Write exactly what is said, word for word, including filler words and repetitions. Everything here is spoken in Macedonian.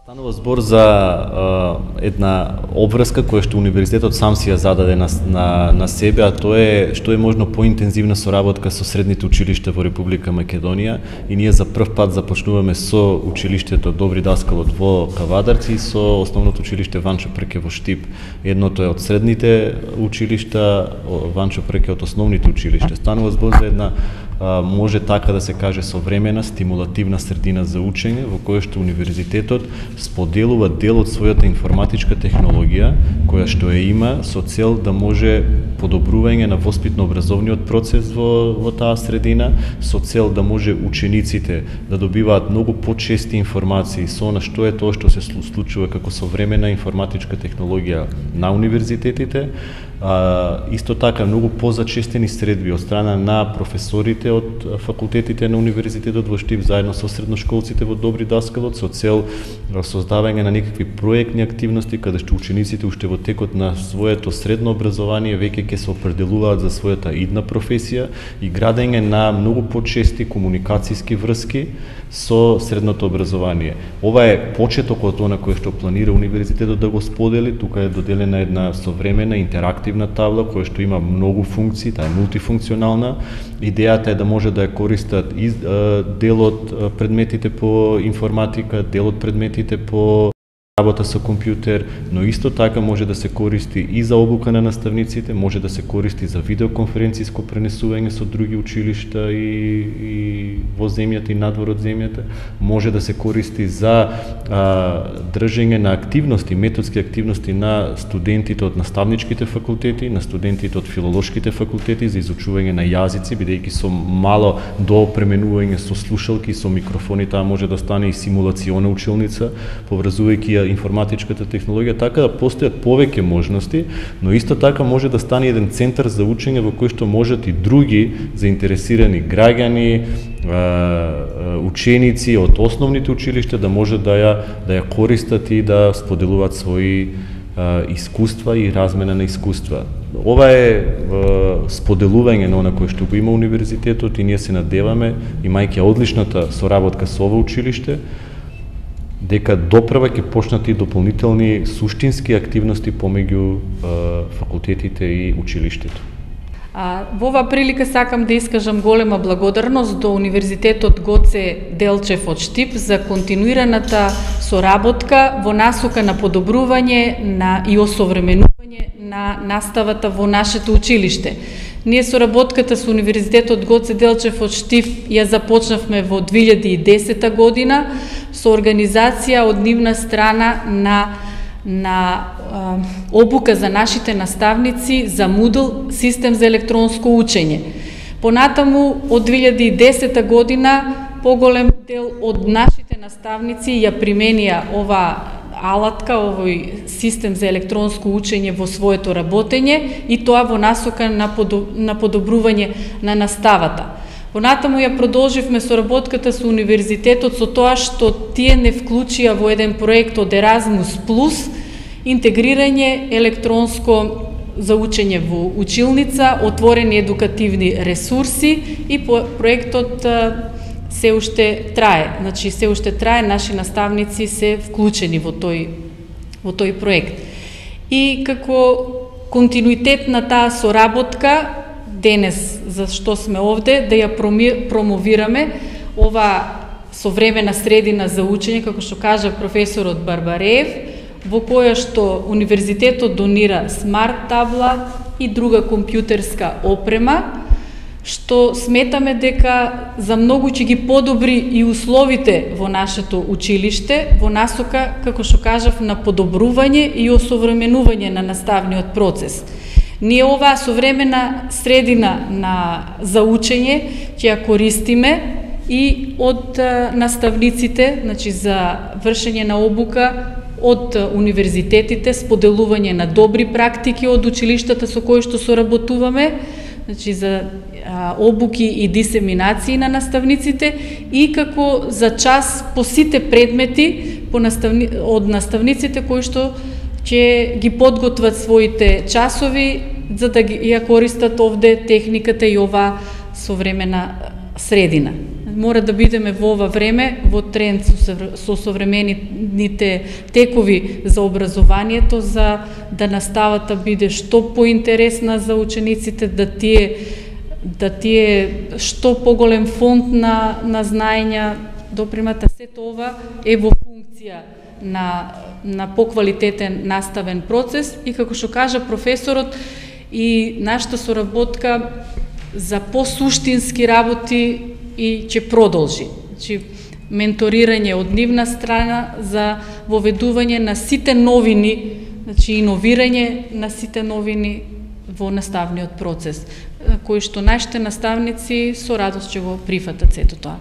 Станува збор за а, една обврска која што универзитетот сам си ја зададе на, на, на себе, а тоа е што е можно поинтензивна соработка со средните училишта во Република Македонија, и ние за прв пат започнуваме со училиштето Добри Даскалот во Кавадарци и со основното училиште Ванчо Прке во Штип. Едното е од средните училишта, Ванчо Прке од основните училишта. Станува збор за една може така да се каже современа, стимулативна средина за учење, во која што универзитетот споделува дел од својата информатичка технологија, која што ја има со цел да може подобрување на воспитно-образовниот процес во, во таа средина, со цел да може учениците да добиваат многу почести информации со на што е тоа што се случува како современа информатичка технологија на универзитетите. А, исто така многу позачестени средби од страна на професорите од факултетите на универзитетот во Штип заедно со средношколците во Добри Даскалот со цел создавање на некакви проектни активности каде што учениците уште во текот на своето средно образование веќе ќе се определуваат за својата идна професија и градење на многу почести комуникацијски врски со средното образование. Ова е почетокот она кој што планира универзитетот да го сподели. Тука е доделена една современа интерактивна табла која што има многу функции, таа е мултифункционална. Идејата е да може да ја користат и дел од предметите по информатика, дел од предметите по работа со компјутер, но исто така може да се користи и за обука на наставниците, може да се користи за видеоконференциско пренесување со други училишта и, и во земјата и надвор од земјата, може да се користи за а, држење на активности, методски активности на студентите од наставничките факултети, на студентите од филолошките факултети за изучување на јазици, бидејќи со мало доопременување со слушалки, со микрофони, таа може да стане и симулациона училница, поврзувајќи ја информатичката технологија, така да постојат повеќе можности, но исто така може да стане еден центар за учење во кој што можат и други заинтересирани граѓани, ученици од основните училишта да може да ја да ја користат и да споделуваат своји искуства и размена на искуства. Ова е споделување на она кое што го има универзитетот и ние се надеваме, имајќи одличната соработка со ова училиште, дека допрева ќе почнат и дополнителни суштински активности помеѓу факултетите и училиштето. А, во оваа прилика сакам да искажам голема благодарност до Универзитетот Гоце Делчев од Штип за континуираната соработка во насока на подобрување на и осовременување на наставата во нашето училиште. Ние соработката со Универзитетот Гоце Делчев од Штип ја започнавме во две илјади и десета година со организација од нивна страна на на а, обука за нашите наставници за Moodle, систем за електронско учење. Понатаму од две илјади и десета година поголем дел од нашите наставници ја применија ова алатка, овој систем за електронско учење во своето работење и тоа во насока на, подоб, на подобрување на наставата. Понатаму ја продолживме соработката со универзитетот со тоа што тие не вклучија во еден проект од Еразмус плюс интегрирање електронско за учење во училница, отворени едукативни ресурси и проектот се уште трае. Значи се уште трае, наши наставници се вклучени во тој во тој проект. И како континуитет на таа соработка денес за што сме овде да ја промовираме ова современа средина за учење, како што кажа професорот Барбареев, во која што универзитетот донира смарт табла и друга компјутерска опрема, што сметаме дека за многу ќе ги подобри и условите во нашето училиште, во насока, како што кажав, на подобрување и осовременување на наставниот процес. Ние оваа современа средина на за учење ќе ја користиме и од наставниците, значи за вршење на обука од универзитетите, споделување на добри практики од училиштата со кои што соработуваме, значи за а, обуки и дисеминации на наставниците и како за час по сите предмети по наставни, од наставниците кои што ќе ги подготват своите часови за да ги ја користат овде техниката и ова современа средина. мора да бидеме во ова време, во тренд со современите текови за образованието, за да наставата биде што поинтересна за учениците, да тие да тие што поголем фонд на, на знаења допримат, а сето ова е во функција на, на поквалитетен наставен процес и како што кажа професорот, и нашата соработка за посуштински работи и ќе продолжи. Значи, менторирање од нивна страна за воведување на сите новини, значи иновирање на сите новини во наставниот процес, кој што нашите наставници со радост ќе го прифатат сето тоа.